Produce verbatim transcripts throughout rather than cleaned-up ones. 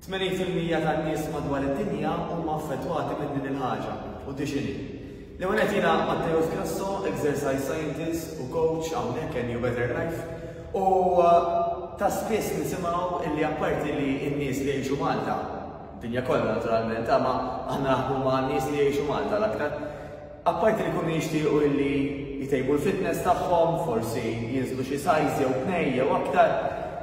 tmenin fil-mija tan-nies madwar id-dinja huma affettwati minn din il-ħaġa u di x'inhi. L-ewwel qed jiena Matteo Grasso, exercise scientist u coach hawnhekk in New Better Life. U ta' spiss nisimgħu illi apparti li n-nies li jgħixu Malta, dinja kollha naturalment, ma aħna naħdmu ma' nies li jgħixu Malta l-aktar. Apparti li jkunu jixtiequ illi jtejbu l-fitness tagħhom, forsi jinżlu xi size jew tnej jew aktar,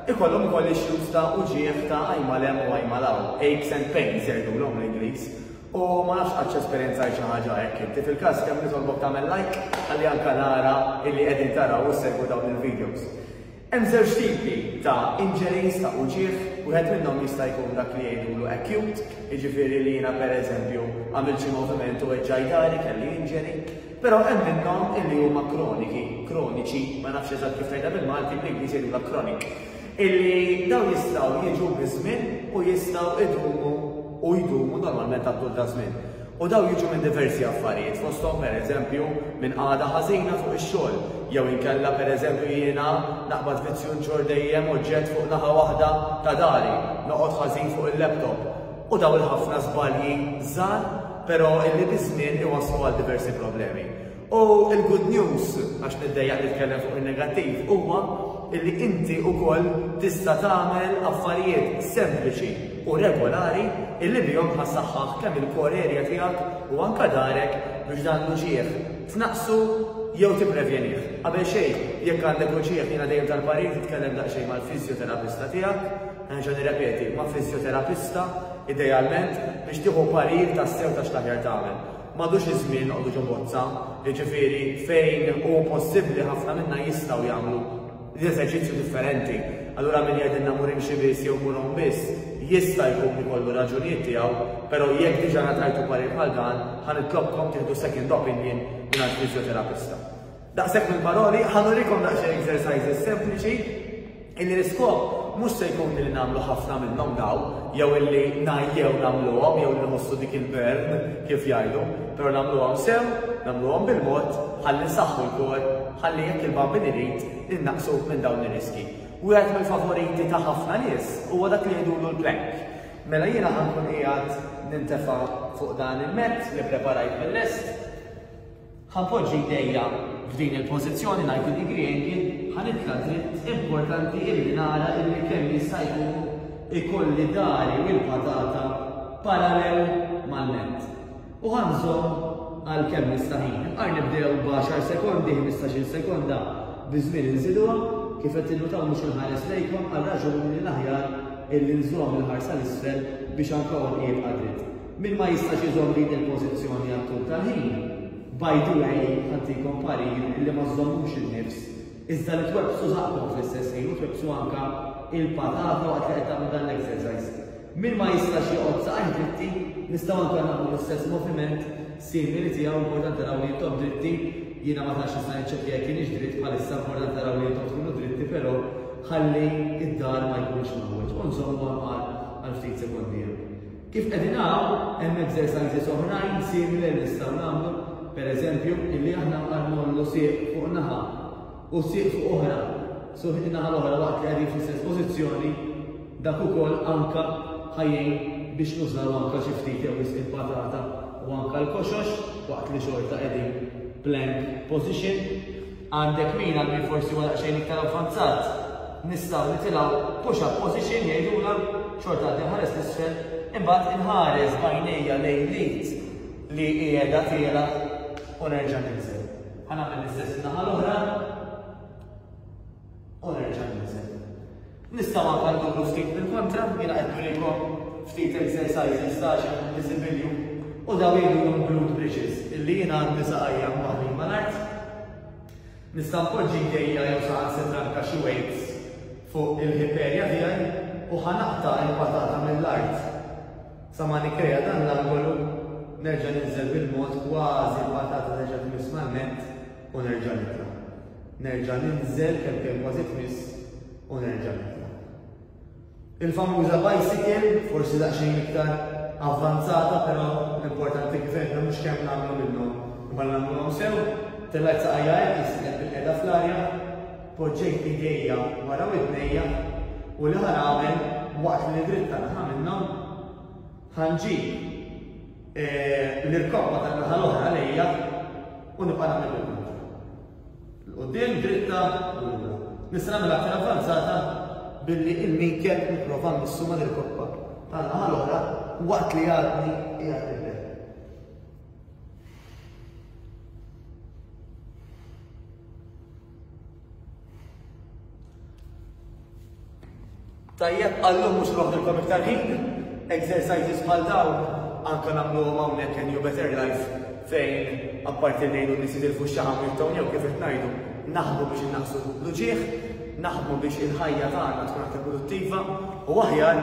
ikollhom ukoll issues ta' uġigħ ta' għajma 'l hemm u għajma 'l hawn, aches and pains jgħidulhom l-Ingliż. U ma nafx qattx esperjenzajt xi ħaġa hekk inti. Fil-każ kemm nitolbok tagħmel like ħalli anke nara illi qegħdin taraw u ssegwu dawn il-videos. Hemm żewġ tipi ta' injuries ta' uġigħ, wieħed minnhom jista' jkun dak li jgħidulu acute, jiġifieri li jiena pereżempju għamilt xi moviment u weġġajt dari kelli injury, però hemm minnhom illi huma kroniki, kroniċi, ma nafx eżatt kif tgħidha bil-Malti, bl-Ingliż jgħidulha chronic, illi dawn jistgħu jiġu biż-żmien u jistgħu idumu u jdumu normalment għat-tul ta' żmien. U daw jiġu minn diversi affarijiet, fosthom pereżempju minn qagħda ħażina fuq ix-xogħol, jew inkella pereżempju jiena naqbad vizzju nġorr dejjem oġġett fuq naħa waħda ta' dari, noqgħod ħażin fuq il-laptop. U daw il-ħafna żbalji żgħar, però illi biż-żmien iwasslu għal diversi problemi. U il-good news, għax niddejjaq nitkellem fuq il-negattiv, huwa illi inti wkoll tista' tagħmel affarijiet sempliċi u regolari illi bihom ħa ssaħħaħ kemm il-core area tiegħek u anka darek biex dan l-uġigħ tnaqqsu jew tipprevjenih. Qabel xejn, jekk għandek uġigħ jiena dejjem tal-parir titkellem daqsxejn mal-fiżjoterapista tiegħek, nerġa' nirrepeti, ma' fiżjoterapista idealment biex tieħu parir tassew ta' x'l-aħjar tagħmel. M'għadux iż-żmien noqogħdu ġo bozza, jiġifieri fejn hu possibbli ħafna minna jistgħu jagħmlu l-eżerċizzju differenti. Allura min jgħidilna mur imxi biss jew mur għum biss, jista' jkun ikollu raġunijiet tiegħu, però jekk diġà ngħatajtu parir bħal dan, ħa nitlobkom tieħdu second opinion mingħand fiżjoterapista. Daqshekk mill-paroli, ħa nurikom daqsxejn exercises sempliċi illi l-iskop mhux se jkun li nagħmlu ħafna minnhom daw, jew illi ngħajjew nagħmluhom, jew li nħossu dik il-burn kif jgħidu, però nagħmluhom sew, nagħmluhom bil-mod, ħalli nsaħħu l-core, ħalli jekk il-Bambin irid innaqqsu minn dawn ir-riski. Wieħed mill-favoriti ta' ħafna nies huwa dak li jgħidulu l-plank. Mela jiena ħa nkun qiegħed nintefa' fuq dan il-mat li preparajt mill-lest. Ħa npoġġi jdejja f'din il-pożizzjoni ninety degree angle, ħa nitla' dritt, importanti illi nara illi kemm jista' jkun ikolli dari u l-patata parallel mal-mat. U ħa nżomm għal kemm nista' ħin. Imqar nibdew b'għaxar sekondi, ħmistax-il sekonda, biż-żmien inżiduha, kif qed tinnutaw mhux inħares lejkom għal raġuni li l-aħjar illi nżomm il-ħarsa l-isfel biex anke għonqi jibqa' dritt. Min ma jistax iżomm din il-pożizzjoni għat-tul tal-ħin, by the way, ħa ntikom parir illi ma żommux il-nifs, iżda li twebbsu żaqqkom fl-istess ħin u twebbsu anka il-patata waqt li qed tagħmlu dan l-exercise. Min ma jistax joqgħod saqajh dritti, nistgħu anke nagħmlu l-istess moviment simili tiegħu, importanti taraw li intom dritti, jiena ma tantx nista' niċċekkja jekk kienx dritt bħalissa, importanti taraw li intom tkunu dritti, però ħalli id-dar ma jkunx mawweġ. U nżommu għal għal ftit sekondi. Kif qegħdin hawn, hemm exercises oħrajn simili li nistgħu nagħmlu, pereżempju, illi aħna nqarmollu sieq fuq naħa u sieq fuq oħra, so naħa l-oħra waqt li qegħdin fl-istess pożizzjoni, dak ukoll anka ħajjin biex nużaw anka xi ftit jew wisq il-patata u anka l-koxox waqt li xorta qegħdin plank position. Għandek min għal min forsi huwa daqsxejn iktar avvanzat, nistgħu nitilgħu push-up position jgħidulha, xorta għaddi nħares l-isfel, imbagħad inħares b'għajnejja lejn l-id li qiegħda tiela u nerġa' ninżel. Ħa nagħmel l-istess naħa l-oħra u nerġa' ninżel. Nistgħu anke nduru ftit bil-kontra, jiena qed nurikom ftit exercises ta' xi visibilju u daw jgħidulhom glute bridges, illi jiena għandi saqajja mwaħħlin mal-art. Nista' npoġġi jdejja jew saħansitra anke xi weights fuq il-hip area tiegħi u ħa naqta' l-patata mill-art. Sa ma nikkreja dan l-angolu, nerġa' ninżel bil-mod kważi l-patata terġa' tmiss mal-mat u nerġa' nitla'. Nerġa' ninżel kemm kemm kważi tmiss u nerġa' nitla'. Il-famuża bicycle, forsi daqsxejn iktar avvanzata, però l-importanti kif għedna mhux kemm nagħmlu minnhom, imma nagħmluhom sew. Tellajt saqajja hekk, jisqed bil-qiegħda fl-arja, poġġejt idejja wara widnejja u li ħa nagħmel waqt li nidritta naħa minnhom, ħa nġib l-irkoppa tan-naħa l-oħra lejja u nibqa' nagħmel bil-kontra. 'L quddiem, dritta u lura. Nista' nagħmel aktar avvanzata billi il-minkeb nipprova mmissu mal-irkoppa tan-naħa l-oħra waqt li għadni qiegħed nibdel. Tajjeb, għallum mhux noħdilkom iktar ħin, exercises bħal dawn anke nagħmluhom hawnhekk in New Better Life fejn apparti ngħidu nies jitilfu x-xaħam u jittownjew kif qed ngħidu, naħdmu biex innaqsu l-uġigħ, naħdmu biex il-ħajja tagħna tkun aktar produttiva u aħjar.